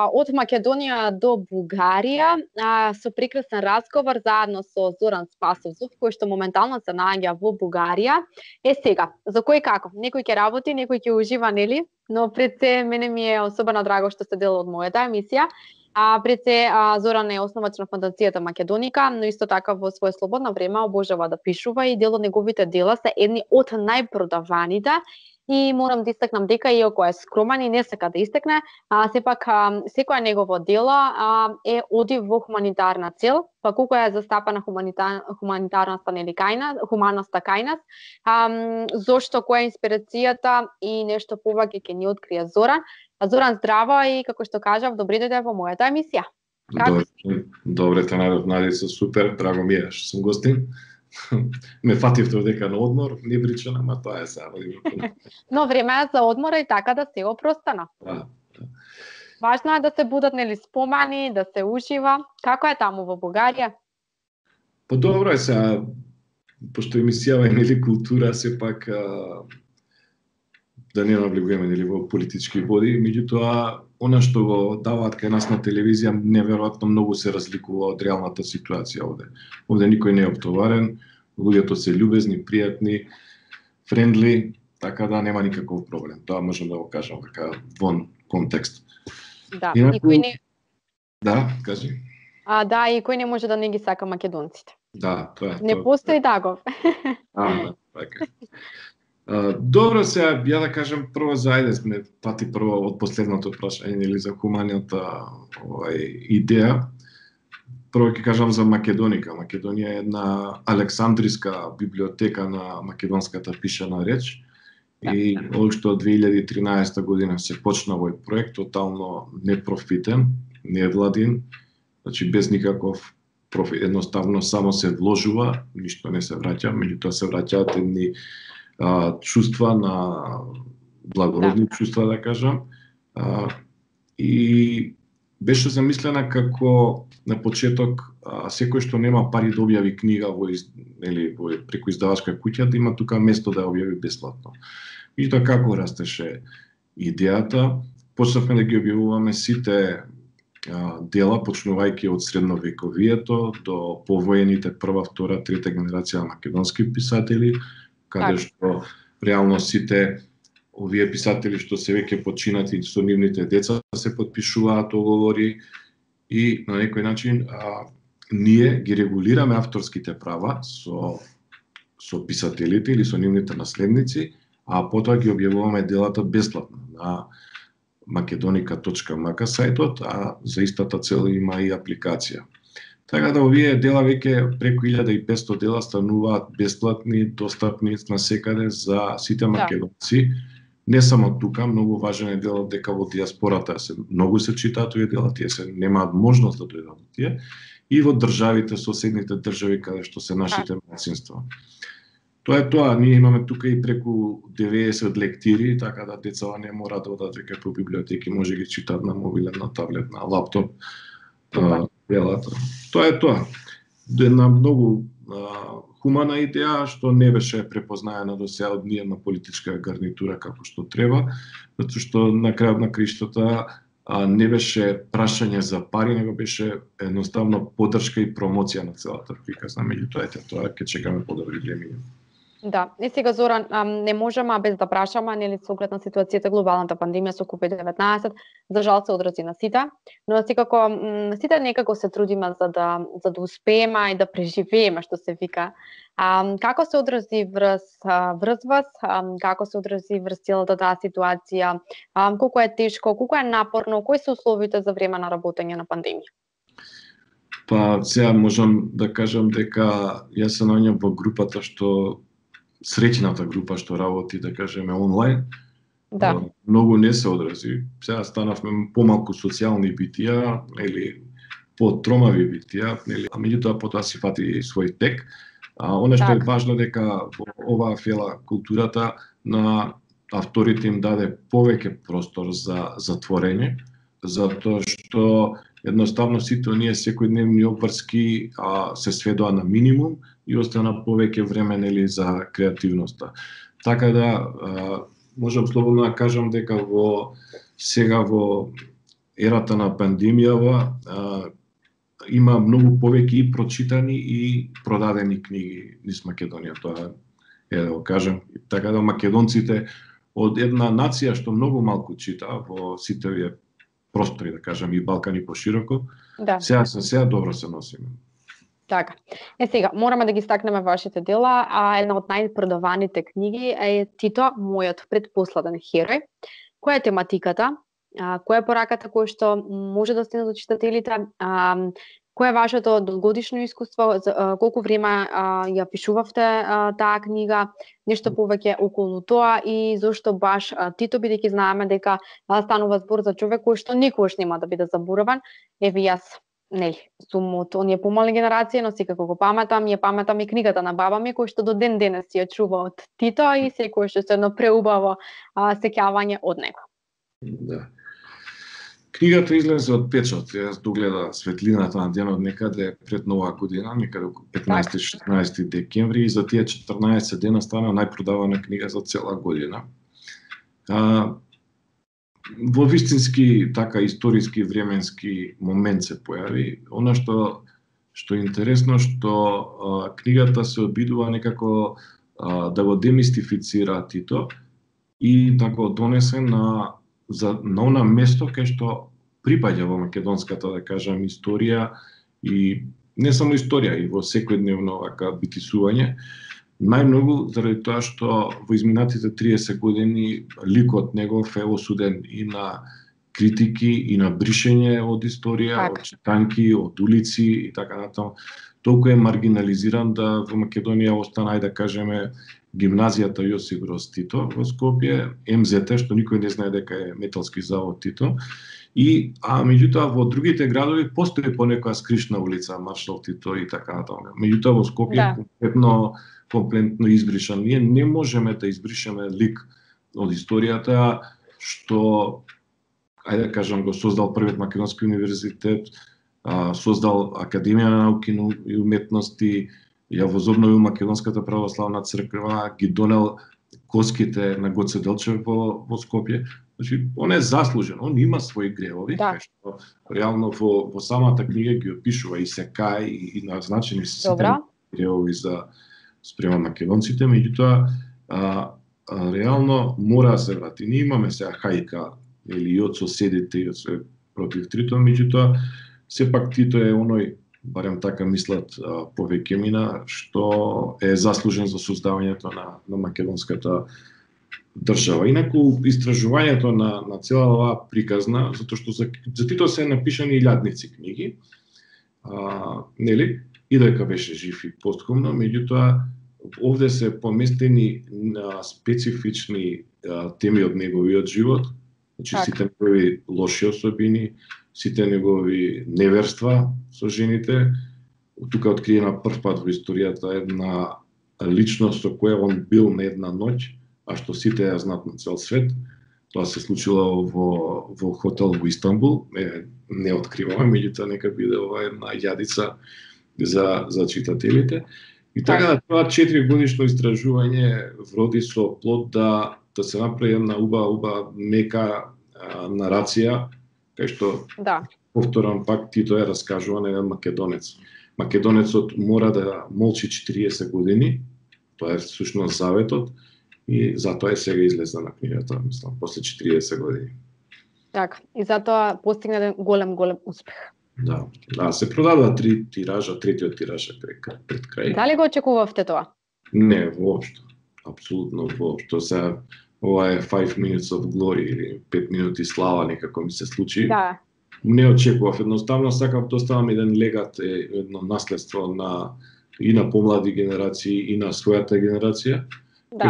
Од Македонија до Бугарија со прекрасен разговор заедно со Зоран Спасовцов, кој што моментално се наоѓа во Бугарија. Сега, за кој како? Некој ќе работи, некој ќе ужива, нели? Но пред се, мене ми е особено драго што сте дел од мојата емисија. Пред се, Зоран е основач на фондацијата Македоника, но исто така во свое слободно време обожава да пишува и дел од неговите дела се едни од најпродаваните. И морам да истакнам дека иако е скромен и не сака да истекне, сепак секоја негово дело е оди во хуманитарна цел, па колку е застапена хуманитарноста нели хуманоста кај нас, зошто, која е инспирацијата и нешто повеќе ќе ни открие Зоран. Зоран, здраво и како што кажав, добре дојде во мојата емисија. Добре те најдов, Надица, супер, драго ми е што сум гостин. Ме фативте дека на одмор, не причам, ама тоа е сега. Но време е за одмора и така да се опростано. Да. Важно е да се будат нели спомени, да се ужива. Како е таму во Бугарија? Добро е сега, пошто емисијава е нели култура, сепак да не навлегуваме нели во политички води, меѓутоа она што го даваат кај нас на телевизија неверојатно многу се разликува од реалната ситуација овде. Овде никој не е оптоварен, луѓето се љубезни, пријатни, френдли, така да нема никаков проблем. Тоа можам да го кажам така вон контекст. Да, никој не... Да, кажи. Да, и кој не може да не ги сака македонците. Да, тоа е. Не постои Дагов. Така. Добро, сега ја да кажам прво зајде сме пати прво од последното прашање или за хуманината идеја. Прво ќе кажам за Македоника. Македонија е една александриска библиотека на македонската пишана реч. И уште од 2013 година се почна овој проект, тотално непрофитен, невладин, значи без никаков профит, едноставно само се вложува, ништо не се враќа, меѓутоа се враќаат едни чувства на благородни чувства, да кажам. И беше замислена како на почеток секој што нема пари да објави книга во преку издавачка куќа, да има тука место да ја објави бесплатно. Меѓутоа како растеше идејата, почнавме да ги објавуваме сите дела, почнувајќи од средновековието до повоените прва, втора, трета генерација македонски писатели, каде што реално сите овие писатели што се веќе починати со нивните деца се потпишуваат оговори и на некој начин ние ги регулираме авторските права со писателите или со нивните наследници, а потоа ги објавуваме делата бесплатно на makedonika.mk сајтот, а за истата цел има и апликација. Така да овие дела веќе преку 1500 дела стануваат бесплатни, достапни на секаде за сите македонци. Не само тука, многу важен е делот дека во диаспората многу се читаат овие дела, тие се немаат можност да дојдат до тие, и во државите, соседните држави каде што се нашите малцинства. Тоа е тоа, ние имаме тука и преку 90 лектири, така да децава не мора да одат веќе по библиотеки, може ги читаат на мобилен, на таблет, на лаптоп. Делата. Тоа е тоа. Една многу хумана идеја што не беше препознаена до сега од ниедна политичка гарнитура како што треба, затоа што на крајот на криштата не беше прашање за пари, него беше едноставно поддршка и промоција на целата приказна. Меѓутоа, тоа ќе чекаме подобри времиња. Да, и сега Зоран, не можеме без да прашаме, нели со оглед на ситуацијата глобалната пандемија со COVID-19, за жал се одрази на сите, но секако сите некако се трудиме за да успееме и да преживееме, што се вика. Како се одрази врз вас, како се одрази врз целата таа ситуација, колку е тешко, колку е напорно, кои се условите за време на работење на пандемија? Па сега можам да кажам дека јас се наоѓам во групата што среќната група што работи, да кажеме, онлайн. Да. Многу не се одрази. Сега станавме помалку социјални битија, или потромави битија, а меѓутоа потоа си фати свој тек. Она што е важно дека во оваа фела културата на авторите им даде повеќе простор за затворење, затоа што едноставно сите оние секојдневни обврски се сведоа на минимум и остана повеќе време нели за креативноста. Така да можам слободно да кажам дека сега во ерата на пандемијава има многу повеќе и прочитани и продадени книги низ Македонија. Тоа е да го кажем. Така да македонците од една нација што многу малку чита во сите овие простори, да кажем, и Балкан и пошироко, сега добро се носиме. Така. Сега, мораме да ги стакнеме вашите дела, една од најпродаваните книги е Тито, мојот предпоследен херој. Која е тематиката? Која е пораката која што може да стигне до читателите? Кој е вашето долгогодишно искуство? Колку време ја пишувавте таа книга? Нешто повеќе околу тоа и зошто баш Тито, бидејќи знаеме дека станува збор за човек кој што никогаш нема да биде забораван. Еве јас, нели, сум од оние помали генерации, но секако го паметам, ја паметам и книгата на баба ми кој што до ден денес си ја чува од Тито и секој што се едно преубаво сеќавање од него. Да. Книгата излезе од печат, јас догледа светлината на денот некаде пред Нова година, некаде 15-16 декември, и за тие 14 дена стана најпродавана книга за цела година. Во вистински така историски временски момент се појави. Она што е интересно, што книгата се обидува некако да го демистифицира Тито и да го донесе на она место кај што припаѓа во македонската, да кажам, историја и не само историја, и во секојдневно вака битисување. Најмногу заради тоа што во изминатите 30 години ликот негов е осуден и на критики, и на бришење од историја, од читанки, од улици и така натаму. Толку е маргинализиран да во Македонија остана, да кажеме, гимназијата Јосип Броз Тито во Скопје, МЗТ, што никој не знае дека е металски завод Тито, и меѓутоа во другите градови постои понекоја скришна улица Маршал Тито и така натаму. Меѓутоа во Скопје комплетно избришан. Ние не можеме да избришеме лик од историјата што, ајде да кажам, го создал првиот македонски универзитет, создал Академија на науки и уметности, ја возобнови Македонската православна црква, ги донел коските на Гоце Делчев во Скопје. Значи, он е заслужен, он има своји гревови, кај што реално во самата книга ги опишува и се кај и назначени се сите гревови за спрема македонците, меѓутоа реално мора да се врати. Ние имаме сега хајка или и од соседите и од све против Тито, меѓутоа сепак Тито е оној, барем така мислат повеќе мина, што е заслужен за создавањето на македонската држава. Инаку истражувањето на цела оваа приказна, затоа што за Тито се напишани илјадници книги, нели, и дека беше жив и постхумно, меѓутоа овде се поместени на специфични теми од неговиот живот, значи сите негови лоши особини, сите негови неверства со жените. Тука откриена прв пат во историјата една личност со која он бил на една ноќ, а што сите ја знаат на цел свет. Тоа се случило во хотел во Истанбул, не откриваме, меѓутоа нека биде ова една јадица за читателите. И така тоа 4 годишно истражување вроди со плод да се направи една убава мека нарација, кај што, повторам пак, Тито е раскажуван еден македонец. Македонецот мора да молчи 40 години, тоа е всушност заветот, и затоа е сега излезна на книгата, мислам, после 40 години. Така, и затоа постигна еден голем успех. Да, се продадува 3 тиража, третиот тираж е пред крај. Дали го очекувавте тоа? Не, воопшто. Апсолутно воопшто. Сега ова е 5 minutes of glory или 5 минути слава, некако ми се случи. Да. Не очекував, едноставно сакав да оставам еден легат, едно наследство и на помлади генерации и на својата генерација,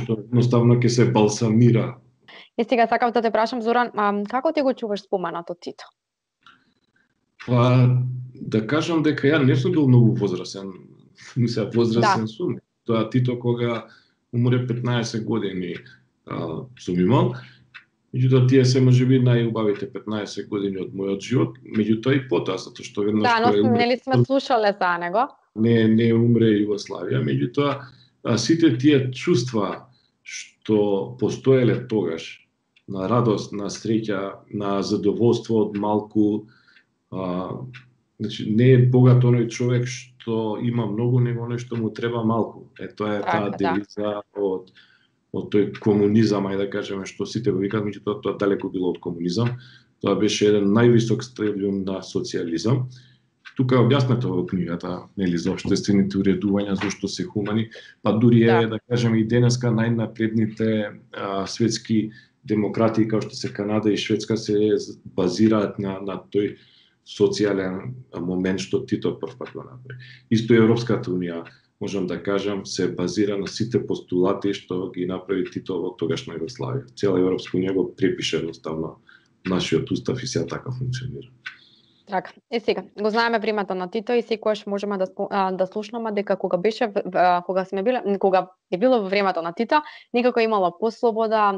што едноставно ќе се балсамира. И сега сакав да те прашам, Зоран, како ти го чуваш споменато Тито? Да кажам дека ја не сум бил многу возрасен, возрасен сум. Тоа Тито кога умре 15 години сум имал, меѓутоа тие се можеби најубавите 15 години од мојот живот, меѓутоа и потоа, затоа што веднаш но нели сме слушале за него? Не умре Југославија, меѓутоа сите тие чувства што постоеле тогаш, на радост, на среќа, на задоволство од малку. Значи, не е богат оној човек што има многу, него нешто му треба малку. Тоа е таа девиза од тој комунизам, ајде да кажеме, што сите го викаат, меѓутоа тоа далеко било од комунизам. Тоа беше еден највисок стадиум на социјализам. Тука е објаснето во книгата, нели, за општествените уредувања, зашто се хумани, па дури е, да кажеме, и денеска најнапредните светски демократии, како што се Канада и Шведска, се базираат на тој социјален момент што Тито првпат го направи. Исто и Европската унија, можам да кажам, се базира на сите постулати што ги направи Тито во тогашна Југославија. Цела Европска унија го препише едноставно нашиот устав и сега така функционира. Така, сега, го знаеме времето на Тито и секогаш можеме да слушнаме дека кога е било во времето на Тито, некако имало послобода,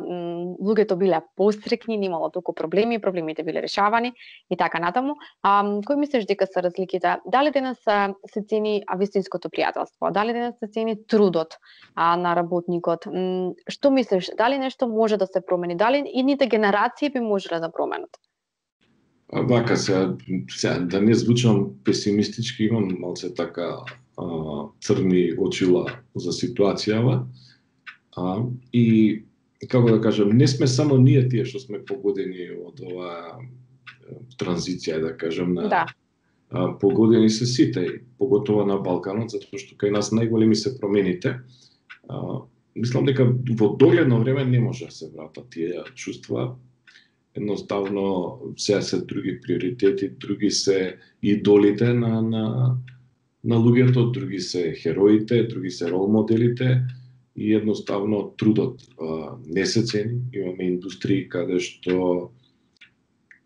луѓето биле пострекни, немало толку проблеми, проблемите биле решавани и така натаму. Кој мислиш дека се разликите? Дали денес се цени вистинското пријателство? Дали денес се цени трудот на работникот? Што мислиш? Дали нешто може да се промени? Дали идните генерации би можеле да променат? Вака сега да не звучам песимистички, имам малце така црни очила за ситуацијава. И како да кажам, не сме само ние тие што сме погодени од оваа транзиција, да кажам, погодени се сите, поготово на Балканот, затоа што кај нас најголеми се промените. Мислам дека во догледно време не може да се вратат тие чувства. Едноставно сега се други приоритети, други се идолите на луѓето, други се хероите, други се рол моделите и едноставно трудот не се цени. Имаме индустрии каде што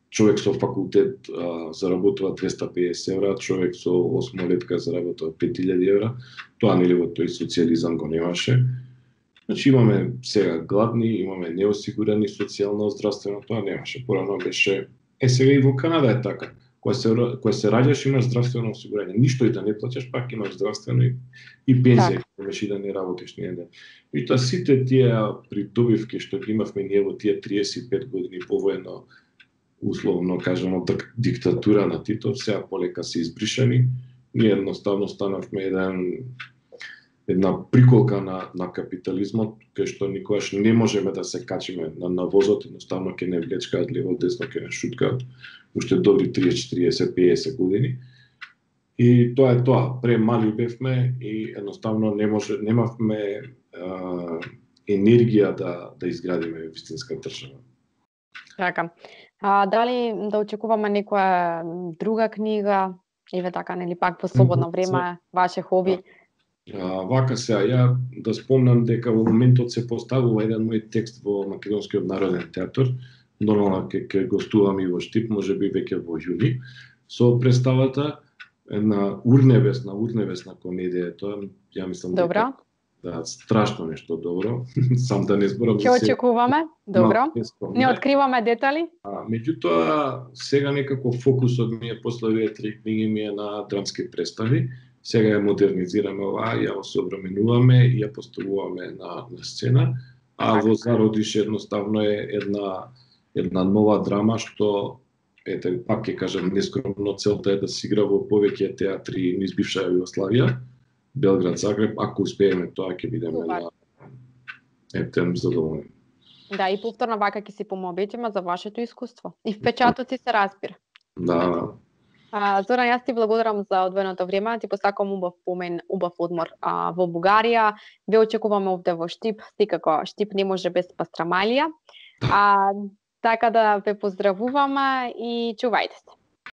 човек со факултет заработува 250 евра, човек со 8-летка заработува 5000 евра. Тоа нели во тој социјализам го немаше. Значи имаме сега гладни, имаме неосигурени социјално, здравствено, тоа немаше. Порано беше, сега и во Канада е така. Кога се раѓаш имаш здравствено осигурање. Ништо и да не плаќаш, пак имаш здравствено и пензија, кога имаш и да не работиш ни еден. И тоа сите тие придобивки што ги имавме ние во тие 35 години повоено, условно кажано, диктатура на Тито, сега полека се избришани. Ние едноставно станавме една приколка на капитализмот, кај што никогаш не можеме да се качиме на возот, едноставно ќе не влечкаат лево десно, ќе не шуткаат, уште добри 30, 40, 50 години. И тоа е тоа, премали бевме и едноставно немавме енергија да изградиме вистинска држава. Така. Дали да очекуваме некоја друга книга, еве така, нели пак во слободно време, ваше хоби? Вака сега, ја да спомнам дека во моментот се поставува еден мој текст во Македонскиот народен театар, нормално ќе гостувам и во Штип, можеби веќе во јуни, со представата една урневесна комедија, тоа ја мислам дека да, страшно нешто добро, сам да не зборам. Ќе очекуваме, добро. Не откриваме детали. Меѓутоа, сега некако фокусот ми е после овие 3 книги ми е на драмски представи. Сега ја модернизираме оваа, ја осовременуваме и ја поставуваме на сцена, а во зародиш едноставно е една нова драма што пак ќе кажам нескромно, целта е да се игра во повеќе театри низ бивша Југославија, Белград, Загреб, ако успееме тоа ќе бидеме на задоволни. Да, и повторно вака ќе си помобетиме за вашето искуство. И впечатоци се разбира. Да. Зоран, јас ти благодарам за одвоеното време, ти посакувам убав помен, убав одмор во Бугарија. Ве очекуваме овде во Штип, секако Штип не може без пастрамалија. Така да ве поздравуваме и чувајте се.